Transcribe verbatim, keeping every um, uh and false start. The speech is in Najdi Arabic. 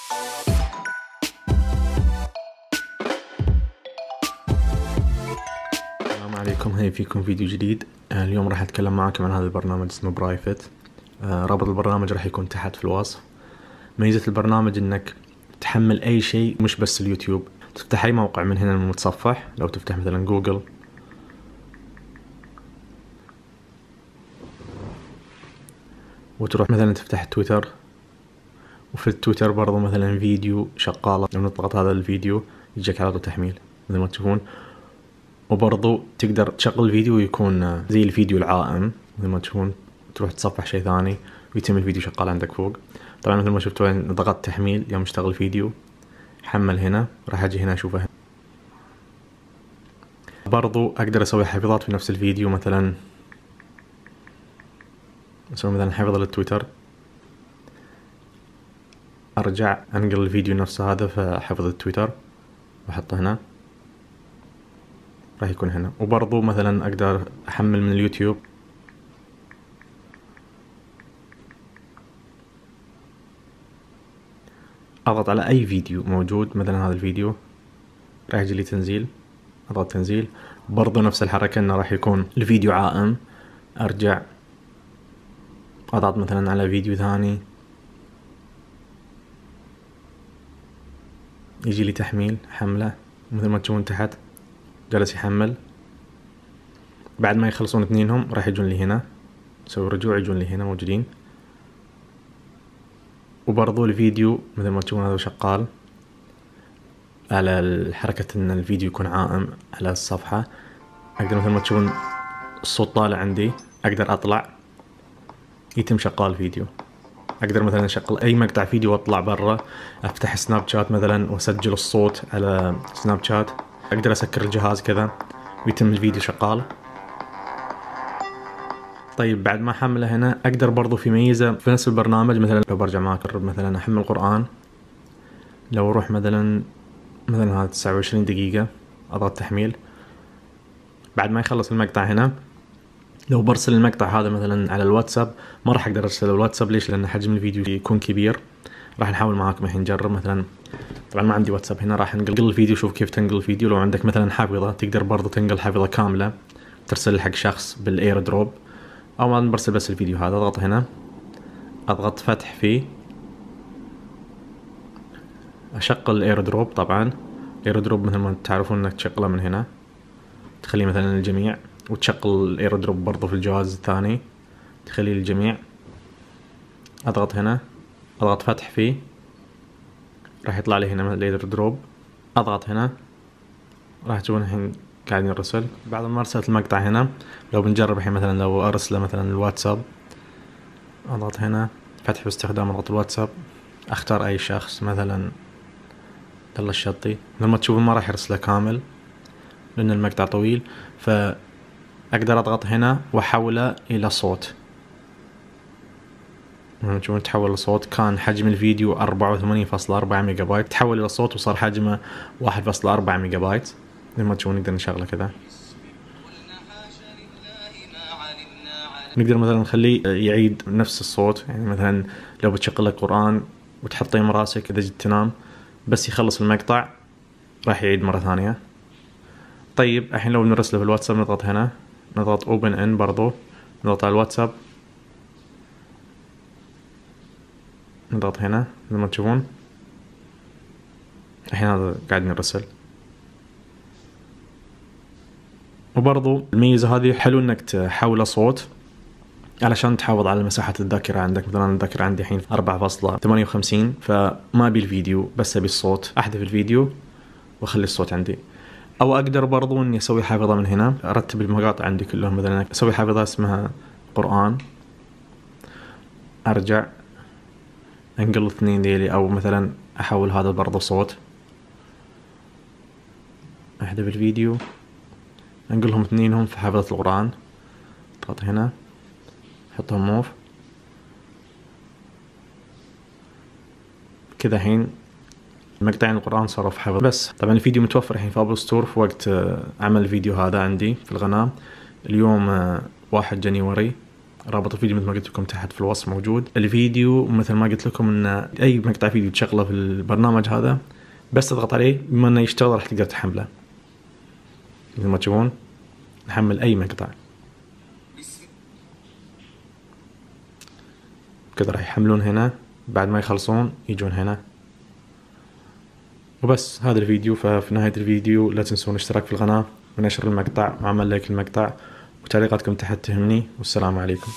السلام عليكم، هاي فيكم فيديو جديد. اليوم راح اتكلم معاكم عن هذا البرنامج اسمه برايفت. رابط البرنامج راح يكون تحت في الوصف. ميزة البرنامج انك تحمل اي شيء مش بس اليوتيوب، تفتح اي موقع من هنا المتصفح. لو تفتح مثلا جوجل وتروح مثلا تفتح تويتر، وفي التويتر برضو مثلا فيديو شغالة، لو نضغط هذا الفيديو يجيك على طول تحميل مثل ما تشوفون. وبرضو تقدر تشغل فيديو يكون زي الفيديو العائم مثل ما تشوفون، تروح تصفح شيء ثاني ويتم الفيديو شغال عندك فوق. طبعا مثل ما شفتوا ضغطت تحميل يوم اشتغل فيديو حمل هنا، راح اجي هنا اشوفه هنا. برضو اقدر اسوي حفظات في نفس الفيديو، مثلا اسوي مثلا حفظ للتويتر، ارجع انقل الفيديو نفسه هذا في حفظ التويتر واحطه هنا، راح يكون هنا. وبرضو مثلا اقدر احمل من اليوتيوب، اضغط على اي فيديو موجود، مثلا هذا الفيديو راح يجي لي تنزيل، اضغط تنزيل. برضو نفس الحركة انه راح يكون الفيديو عائم، ارجع اضغط مثلا على فيديو ثاني يجي لي تحميل حمله مثل ما تشوفون تحت جالس يحمل. بعد ما يخلصون اثنينهم راح يجون لي هنا، اسوي رجوع يجون لي هنا موجودين. وبرضو الفيديو مثل ما تشوفون هذا شغال على الحركة ان الفيديو يكون عائم على الصفحة. اقدر مثل ما تشوفون الصوت طالع عندي، اقدر اطلع يتم شغال فيديو. اقدر مثلا اشغل اي مقطع فيديو واطلع برا، افتح سناب شات مثلا واسجل الصوت على سناب شات. اقدر اسكر الجهاز كذا ويتم الفيديو شغال. طيب بعد ما احمله هنا اقدر برضو في ميزة في نفس البرنامج، مثلا لو برجع معك مثلا احمل قرآن، لو اروح مثلا مثلا هذا تسعة وعشرين دقيقة اضغط تحميل. بعد ما يخلص المقطع هنا لو برسل المقطع هذا مثلا على الواتساب، ما راح اقدر ارسله الواتساب. ليش؟ لان حجم الفيديو يكون كبير. راح نحاول معاكم الحين نجرب. مثلا طبعا ما عندي واتساب هنا، راح ننقل الفيديو. شوف كيف تنقل الفيديو. لو عندك مثلا حافظة تقدر برضو تنقل حافظة كاملة ترسل حق شخص بالاير دروب، او ما برسل بس الفيديو هذا. اضغط هنا، اضغط فتح فيه، اشغل الاير دروب. طبعا الاير دروب مثل ما تعرفون انك تشغله من هنا، تخليه مثلا للجميع، وتشغل الاير دروب برضو في الجهاز الثاني تخليه للجميع. اضغط هنا، اضغط فتح فيه، راح يطلع لي هنا الاير دروب. اضغط هنا، راح تشوفون الحين قاعد يرسل. بعد ما ارسلت المقطع هنا، لو بنجرب الحين مثلا لو ارسله مثلا الواتساب، اضغط هنا فتح باستخدام رابط الواتساب، اختار اي شخص مثلا يلا الشطي. لما تشوفون ما راح يرسله كامل لان المقطع طويل، فاقدر اضغط هنا واحوله الى صوت. تشوفون تحول لصوت. كان حجم الفيديو أربعة وثمانين فاصلة أربعة ميجا بايت، تحول الى صوت وصار حجمه واحد فاصلة أربعة ميجا بايت. لما تشوفون نقدر نشغله كذا. نقدر مثلا نخليه يعيد نفس الصوت، يعني مثلا لو بتشغل لك قرآن وتحطيه مراسك اذا جيت تنام، بس يخلص المقطع راح يعيد مرة ثانية. طيب الحين لو بنرسله في الواتساب، نضغط هنا، نضغط اوبن ان، برضو نضغط على الواتساب، نضغط هنا مثل ما تشوفون الحين هذا قاعد نرسل. وبرضو الميزة هذه حلو انك تحوله صوت علشان تحافظ على مساحة الذاكرة عندك. مثلا الذاكرة عندي الحين أربعة فاصلة ثمانية وخمسين، فما ابي الفيديو بس ابي الصوت، احذف الفيديو واخلي الصوت عندي. او اقدر برضو اني اسوي حافظة من هنا، ارتب المقاطع عندي كلهم. مثلا اسوي حافظة اسمها قرآن، ارجع انقل اثنين ديلي، او مثلا احول هذا برضو صوت، احذف الفيديو، انقلهم اثنينهم في حافظة القرآن، اضغط هنا حطهم موف كذا. الحين مقطعين القرآن صاروا في حفظ. بس طبعا الفيديو متوفر الحين في ابل ستور في وقت عمل الفيديو هذا عندي في القناة. اليوم واحد جانيوري رابط الفيديو مثل ما قلت لكم تحت في الوصف موجود. الفيديو مثل ما قلت لكم ان اي مقطع فيديو تشغله في البرنامج هذا بس تضغط عليه بما انه يشتغل راح تقدر تحمله. مثل ما تشوفون نحمل اي مقطع كذا، راح يحملون هنا، بعد ما يخلصون يجون هنا وبس. هذا الفيديو. ففي نهاية الفيديو لا تنسون الاشتراك في القناة ونشر المقطع وعمل لايك المقطع، وتعليقاتكم تحت تهمني. والسلام عليكم.